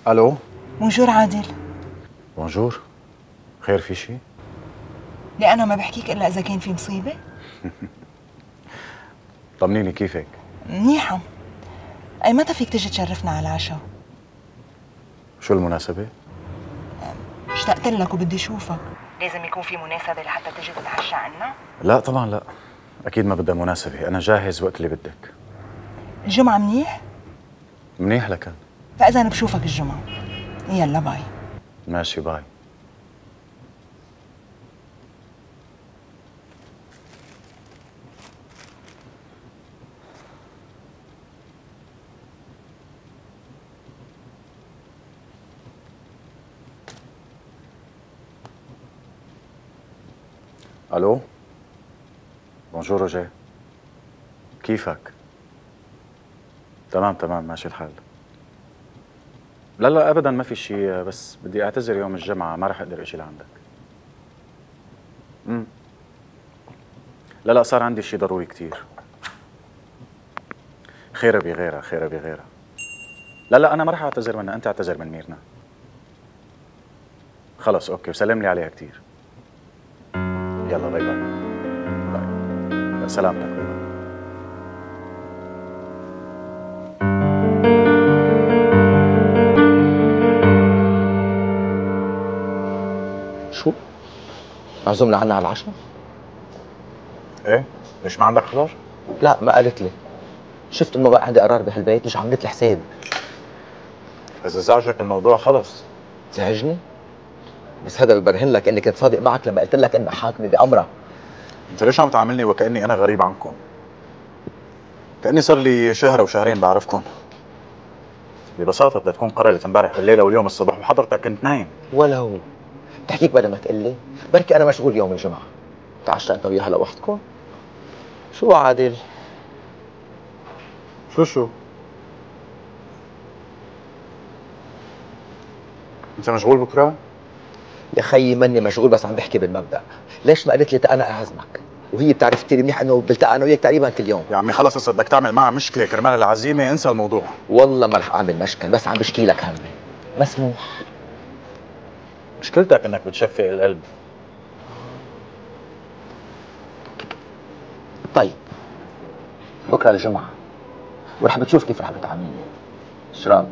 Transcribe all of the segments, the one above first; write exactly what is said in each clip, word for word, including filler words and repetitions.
الو. بونجور عادل. بونجور. خير في شي؟ ليه أنا ما بحكيك إلا إذا كان في مصيبة؟ طمنيني كيفك؟ منيحة. أي متى فيك تجي تشرفنا على العشاء؟ شو المناسبة؟ اشتقت لك وبدي اشوفك. لازم يكون في مناسبة لحتى تجي تتعشى عنا؟ لا طبعا لا، أكيد ما بدها مناسبة، أنا جاهز وقت اللي بدك. الجمعة منيح؟ منيح لكن. فإذا أنا بشوفك الجمعة. يلا باي. ماشي باي. الو. بونجور روجيه. كيفك؟ تمام تمام ماشي الحال. لا لا ابدا ما في شيء، بس بدي اعتذر يوم الجمعة، ما رح اقدر اجي لعندك. امم لا لا صار عندي شيء ضروري كتير. خيرة بغيرها خيرة بغيرها. لا لا انا ما رح اعتذر منها، انت اعتذر من ميرنا. خلص اوكي، وسلم لي عليها كتير. يلا باي باي. باي. سلامتك. باي باي. شو؟ معزومنا عنا على العشاء؟ ايه؟ ليش ما عندك خضار؟ لا ما قالت لي. شفت انه بقى عندي قرار بهالبيت، مش عملت لي حساب. اذا زعجك الموضوع خلص. زعجني؟ بس هذا ببرهن لك اني كنت صادق معك لما قلت لك انه حاكمي بأمرها. انت ليش عم تعاملني وكأني انا غريب عنكم؟ كأني صار لي شهر وشهرين بعرفكم. ببساطة بدها تكون قررت امبارح بالليلة واليوم الصبح وحضرتك كنت نايم. ولو بتحكيك بدل ما تقول لي، بركي انا مشغول يوم الجمعة. تعشى انت وياها لوحدكم؟ شو عادل؟ شو شو؟ انت مشغول بكره؟ يا خيي ماني مشغول، بس عم بحكي بالمبدأ. ليش ما قالت لي تا انا اعزمك؟ وهي بتعرف كثير منيح انه بلتقى انا وياك تقريبا كل يوم. يا عمي خلص، اذا بدك تعمل معها مشكله كرمال العزيمه انسى الموضوع. والله ما رح اعمل مشكل، بس عم بشكي لك همي. مسموح. مشكلتك انك بتشفق القلب. طيب بكره الجمعه ورح بتشوف كيف رح بتعاملني. ايش رايك؟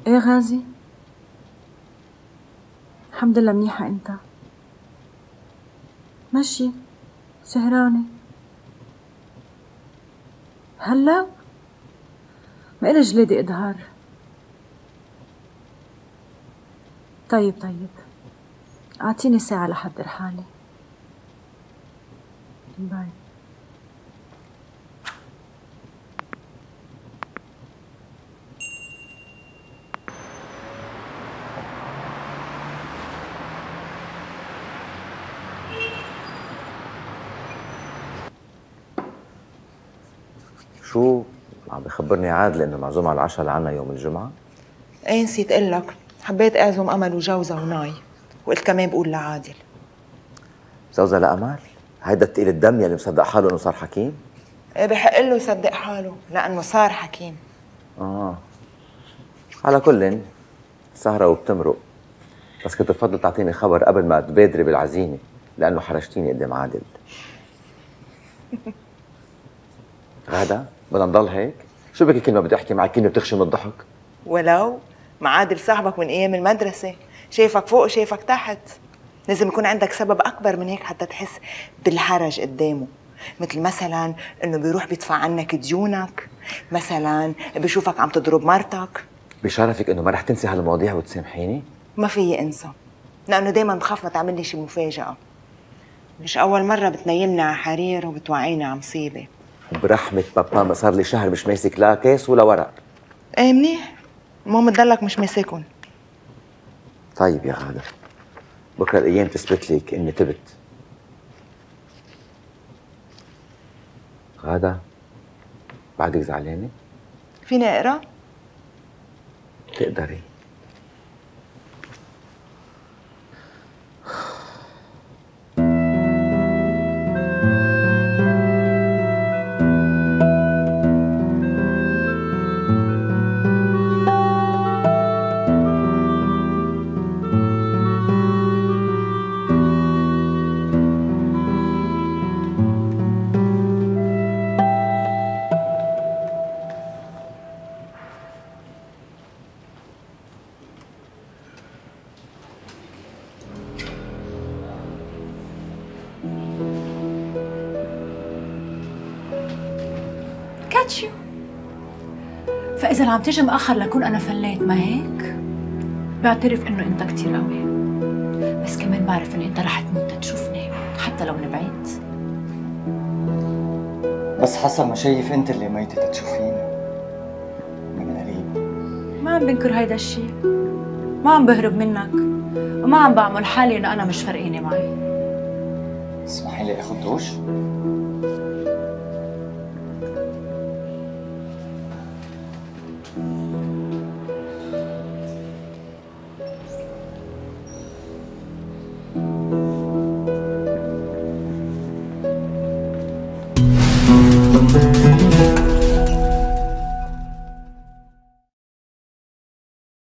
ايه غازي؟ الحمد لله منيحة. انت؟ ماشي سهرانة هلا؟ ما إلي جليدة إظهار. طيب طيب أعطيني ساعة لحضر حالي. باي. شو عم بخبرني عادل انه معزوم على العشاء لعنا يوم الجمعة؟ ايه نسيت اقول لك، حبيت اعزم امل وجوزها وناي، وقلت كمان بقول لعادل. زوزها لأمل؟ هيدا التقيل الدم يلي مصدق حاله انه صار حكيم؟ ايه بحق له يصدق حاله لانه صار حكيم. اه على كل سهرة وبتمرق، بس كنت بفضل تعطيني خبر قبل ما تبادري بالعزيمة لأنه حرجتيني قدام عادل. غادة بدنا نضل هيك؟ شو بكي كل ما بدي احكي معك كلمة بتخشي من الضحك؟ ولو مع عادل صاحبك من ايام المدرسة، شايفك فوق شايفك تحت، لازم يكون عندك سبب اكبر من هيك حتى تحس بالحرج قدامه. مثل مثلا انه بيروح بيدفع عنك ديونك، مثلا بيشوفك عم تضرب مرتك. بشرفك انه ما رح تنسي هالمواضيع وتسامحيني؟ ما فيي انسى، لانه دايما بخاف ما تعمل لي شي مفاجأة. مش أول مرة بتنيمني على حرير وبتوعيني على مصيبة. برحمة بابا ما صار لي شهر مش ماسك لا كيس ولا ورق. ايه منيح، المهم تضلك مش ماسكن. طيب يا غادة، بكره الايام تثبت لك اني تبت. غادة بعدك زعلانة؟ فيني اقرا؟ تقدري. كاتشيو. فإذا عم تيجي مأخر لكون أنا فليت، ما هيك؟ بعترف إنه أنت كتير قوي، بس كمان بعرف إنه أنت رح تموت تشوفني حتى لو من بعيد. بس حسب ما شايف أنت اللي ميتة تشوفيني من قريب. ما عم بنكر هيدا الشيء، ما عم بهرب منك، وما عم بعمل حالي إنه أنا مش فارقيني معي. تسمحي لي آخد دوش؟